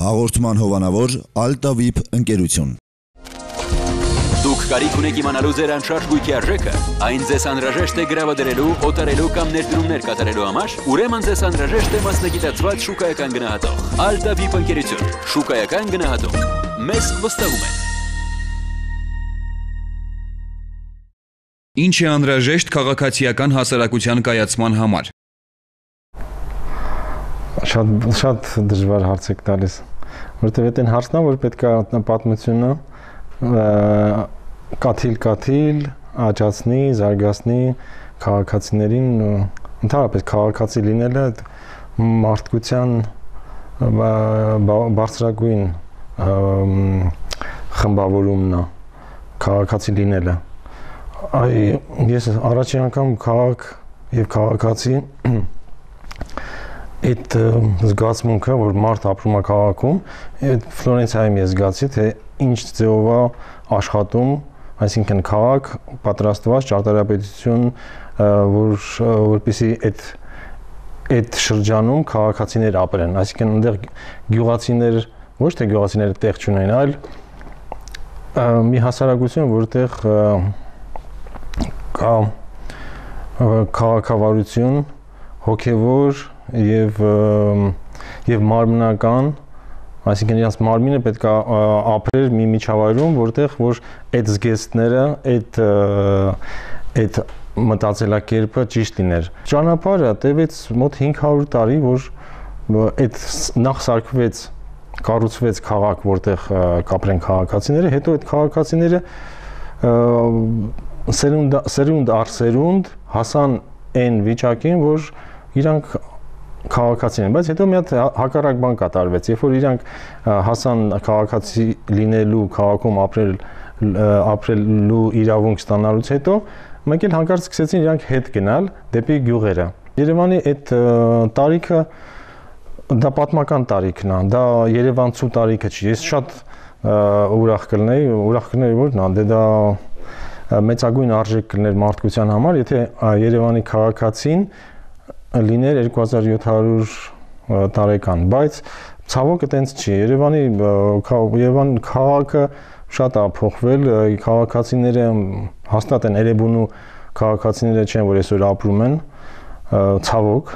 Հաղորդման հովանավոր Altavip ընկերություն։ Դուք կարիք ունեք իմանալու ձեր անշարժ գույքի արժեքը, այն ձեզ անհրաժեշտ է գրավադրելու, օտարելու կամ ներդրումներ կատարելու համար, ուրեմն ձեզ անհրաժեշտ է մասնագիտացված շուկայական գնահատող։ Altavip ընկերություն, շուկայական գնահատող։ Մեզ վստահում են։ Ինչ է անհրաժեշտ քաղաքացիական հասարակության կայացման համար։ Շատ դժվար հարց եք տալիս, որտեղ այդ հարցն է, որ պետք է պատմությունը կաթիլ աճացնի, զարգացնի քաղաքացիներին, ընդհանրապես քաղաքացի լինելը մարդկության բարձրագույն խմբավորումն է, քաղաքացի լինելը։ Ես առաջին անգամ քաղաք եւ քաղաքացի այդ զգացմունքը, որ մարդ ապրում է քաղաքում, այդ Ֆլորենցիայում ես զգացի, թե ինչ ձևով է աշխատում, այսինքն քաղաք պատրաստված ճարտարապետություն, որպեսզի այդ շրջանում քաղաքացիներ ապրեն, այսինքն այնտեղ գյուղացիներ, ոչ թե գյուղացիները տեղ չունեն, այլ մի հասարակություն, որտեղ կա քաղաքավարություն, հոգևոր եւ մարմնական, այսինքն իրաց մարմինը պետք է ապրեր մի միջավայրում, որտեղ որ այդ զգեստները, այդ մտածելակերպը ճիշտ լիներ։ Ճանապարհը տևեց մոտ 500 տարի, որ այդ նախ սարքվեց, կառուցվեց քաղաք, որտեղ կապրեն քաղաքացիները, հետո այդ քաղաքացիները սերունդ առ սերունդ հասան այն վիճակին, որ իրանք քաղաքացին են, բայց հետո մի հատ հակառակ բան կատարվեց, երբ որ իրանք հասան քաղաքացի լինելու, քաղաքում ապրելու իրավունք ստանալուց հետո, մեկ էլ հանկարծ սկսեցին իրանք հետ գնալ դեպի գյուղերը։ Երևանի այդ տարիքը դա պատմական տարիքն է, դա երևանցու տարիքը չի։ Ես շատ ուրախ կլինեի, որ դա մեծագույն արժեք կլիներ մարդկության համար, եթե Երևանի քաղաքացին լիներ 2700 տարեկան, բայց ցավոք այտենց չի։ Երևան քաղաքը շատ է փոխվել, քաղաքացիները հաստատ են Էրեբունու քաղաքացիները չեն, որ այսօր ապրում են, ցավոք։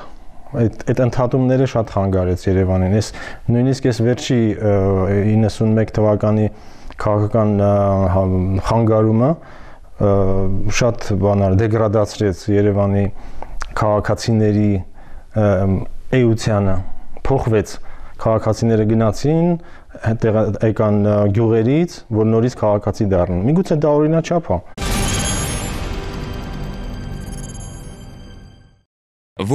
Այդ ընդհատումները շատ խանգարեց Երևանին։ Ես նույնիսկ վերջի 91 թվականի քաղաքական խանգարումը շատ բանալ դեգրադացրեց Երևանի քաղաքացիների էությանը, փոխվեց, քաղաքացիները գնացին, եկան գյուղերից, որ նորից քաղաքացի դառնան։ Միգուցե դա օրինաչափ է։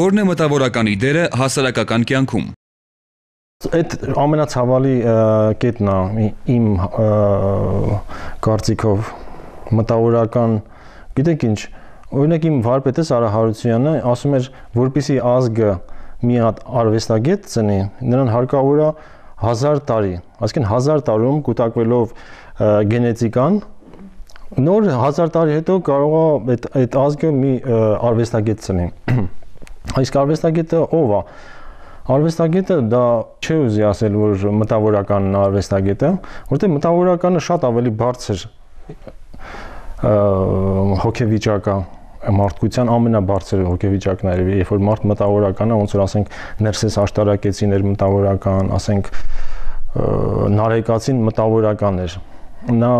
Որն է մտավորականի դերը հասարակական կյանքում։ Այդ ամենացավալի կետն է իմ կարծիքով մտավորական, գիտեք ինչ, օրինակ իմ վարպետս Արա Հարությունյանը ասում էր, որպեսզի ազգը մի հատ արվեստագետ ծնի, նրան հարկավոր է 1000 տարի, այսինքն 1000 տարում կուտակվելով գենետիկան, նոր 1000 տարի հետո կարող է այդ ազգը մի արվեստագետ ծնի։ Իսկ արվեստագետը ով է։ Արվեստագետը դա չի ուզի ասել, որ մտավորականն արվեստագետը, որտեղ մտավորականը շատ ավելի բարձր հոգեվիճակ է, մարդկության ամենաբարձր հոգեվիճակն է, երբ որ մարդ մտավորական է, ոնց որ ասենք Ներսես աշտարակեցիներ մտավորական, ասենք Նարեկացին մտավորական էր, նա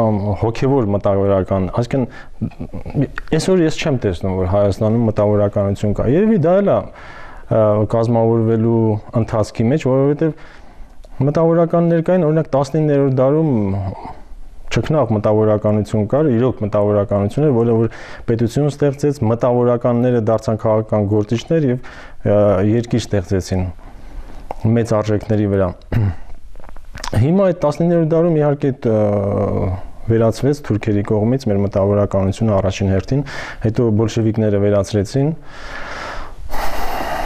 հոգևոր մտավորական, այսինքն այսօր ես չեմ տեսնում, որ Հայաստանում մտավորականություն կա, երևի դա էլ է կազմավորվելու ընթացքի մեջ, որովհետև մտավորականներ կային, օրինակ 19-րդ դարում չքնաղ մտավորականություն կար, իրոք մտավորականություն էր, որը որ պետություն ստեղծեց, մտավորականները դարձան քաղաքական գործիչներ եւ երկիր ստեղծեցին մեծ արժեքների վրա։ Հիմա այդ 19-րդ դարում իհարկե վերացվեց թուրքերի կողմից մեր մտավորականությունը առաջին հերթին, հետո բոլշևիկները վերացրեցին։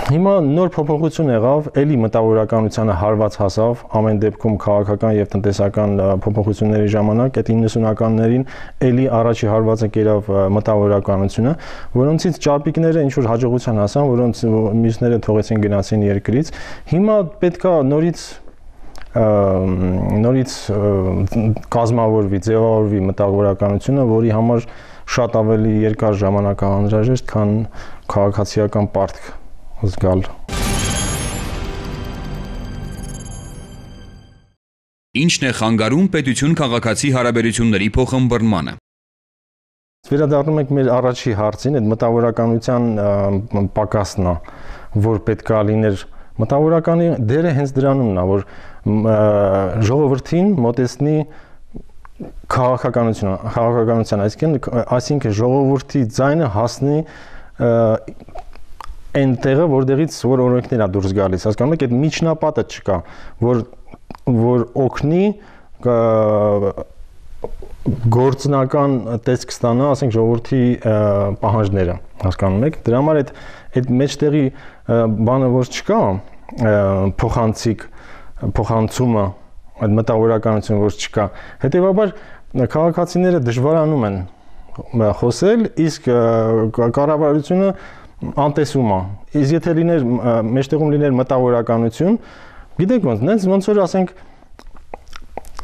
Հիմա նոր փոփոխություն եղավ, էլի մտավորականությանը հարված հասավ, ամեն դեպքում քաղաքական եւ տնտեսական փոփոխությունների ժամանակ այդ 90-ականներին էլի առաջի հարվածը կերավ մտավորականությունը, որոնցից ճապիկները ինչ որ հաջողության հասան, որոնց մյուսները թողեցին գնացին երկրից։ Հիմա պետքա նորից նորից կազմավորվի, ձևավորվի մտավորականությունը, որի համար շատ ավելի երկար ժամանակ անհրաժեշտ, քան քաղաքացիական պարտք զգալ։ Ինչն է խանգարում պետություն-քաղաքացի հարաբերությունների փոխըմբռնմանը։ Վերադառնում ենք մեր առաջի հարցին, այդ մտավորականության պակասն է, որ պետք է լիներ։ Մտավորականի դերը հենց դրանումն է, որ ժողովրդին մոտեցնի քաղաքականության, այսինքն ժողովրդի ձայնը հասնի այն տեղը, որտեղից որ օրենքներ է դուրս գալիս, հասկանում եք, այդ միջնապատը չկա, որ օգնի գործնական տեսք ստանա, ասենք ժողովրդի պահանջները, հասկանում եք, դրա համար այդ մեջտեղի բանը որ չկա, փոխանցումը, այդ մտավորականությունը որ չկա, հետևաբար քաղաքացիները դժվարանում են խոսել, իսկ կառավարությունը անտեսում է։ Իսկ եթե լիներ մեջտեղում լիներ մտավորականություն, գիտեք ոնց որ ասենք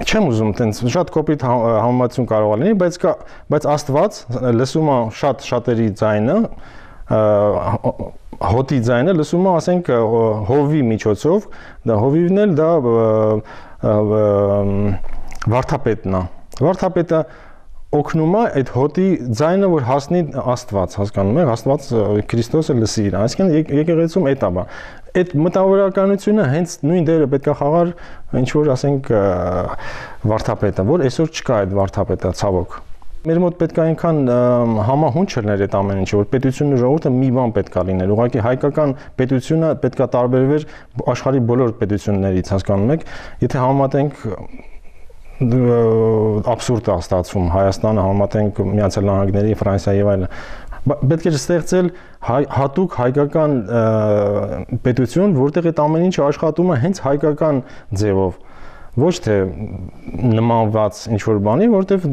չեմ ուզում տենց շատ կոպիտ համեմատություն կարող է լինի, բայց Աստված լսում է շատերի ձայնը, հոտի ձայնը լսում է, ասենք հովի միջոցով, դա հովիվն էլ դա վարդապետն է։ Վարդապետը օգնում է այդ հոտի ձայնը, որ հասնի Աստված, հասկանում եք, Աստված Քրիստոսը լսի իրան, այսինքն եկեղեցում էդ է։ Այդ մտավորականությունը հենց նույն դերը պետք է խաղար ինչ որ ասենք վարդապետը, որ այսօր չկա այդ վարդապետը, ցավոք։ Մեր մոտ պետք է այնքան համահունչ լիներ այդ ամեն ինչը, որ պետությունն ու ժողովուրդը մի բան պետք է լիներ։ Ուղղակի հայկական պետությունը պետք է տարբերվեր աշխարհի բոլոր պետություններից, հասկանում եք։ Եթե համեմատենք абսուրդ է ստացվում Հայաստանը համեմատենք Միացյալ Նահանգների, Ֆրանսիայի եւ այլն։ Պետք է ստեղծել հատուկ հայկական պետություն, որտեղ այդ ամեն ինչը աշխատում է հենց հայկական ձևով, ոչ թե նմանված ինչ որ բանի, որտեղ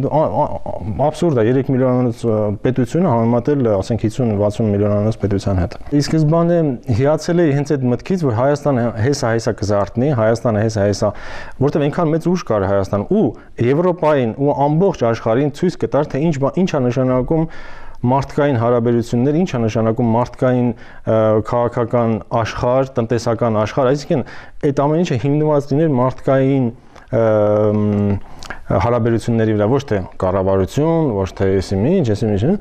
абսուրդ է 3 միլիոնանոց պետությունը համեմատել, ասենք 50-60 միլիոնանոց պետության հետ։ Ի սկզբանե հիացել էի հենց այդ մտքից, որ Հայաստանը հեսա կզարթնի, Հայաստանը հեսա, որտեղ այնքան մեծ ուժ կար Հայաստան ու Եվրոպային ու ամբողջ աշխարհին ցույց կտար, թե ինչ է նշանակում մարդկային հարաբերություններ, ինչ է նշանակում մարդկային քաղաքական աշխարհ, տնտեսական աշխարհ, այսինքն այդ ամեն ինչը հիմնված լիներ մարդկային հարաբերությունների վրա, ոչ թե կառավարություն, ոչ թե այսինքն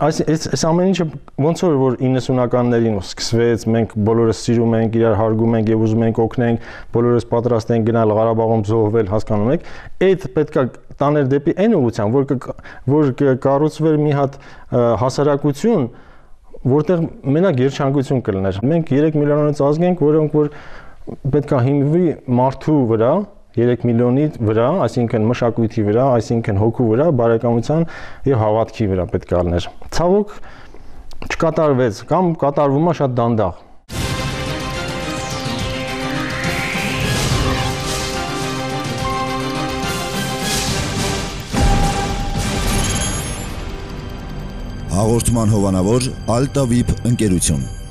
այս ամեն ինչը ոնց որ 90-ականներին սկսվեց, մենք բոլորս սիրում ենք, իրար հարգում ենք եւ ուզում ենք օգնենք, բոլորս պատրաստ ենք գնալ Ղարաբաղում զոհվել, հասկանում եք, այդ պետքա տաներ դեպի այն ուղղությամբ, որ կառուցվեր մի հատ հասարակություն, որտեղ մենակ երջանկություն կլիներ։ Մենք 3 միլիոնից ազգ ենք, որոնք որ պետքա հիմնվի մարդու վրա, 3 միլիոնի վրա, այսինքն մշակույթի վրա, այսինքն հոգու վրա, բարեկամության եւ հավատքի վրա պետք է լիներ։ Ցավոք չկատարվեց կամ կատարվում է շատ դանդաղ։ Հաղորդման հովանավոր Alta VIP ընկերություն։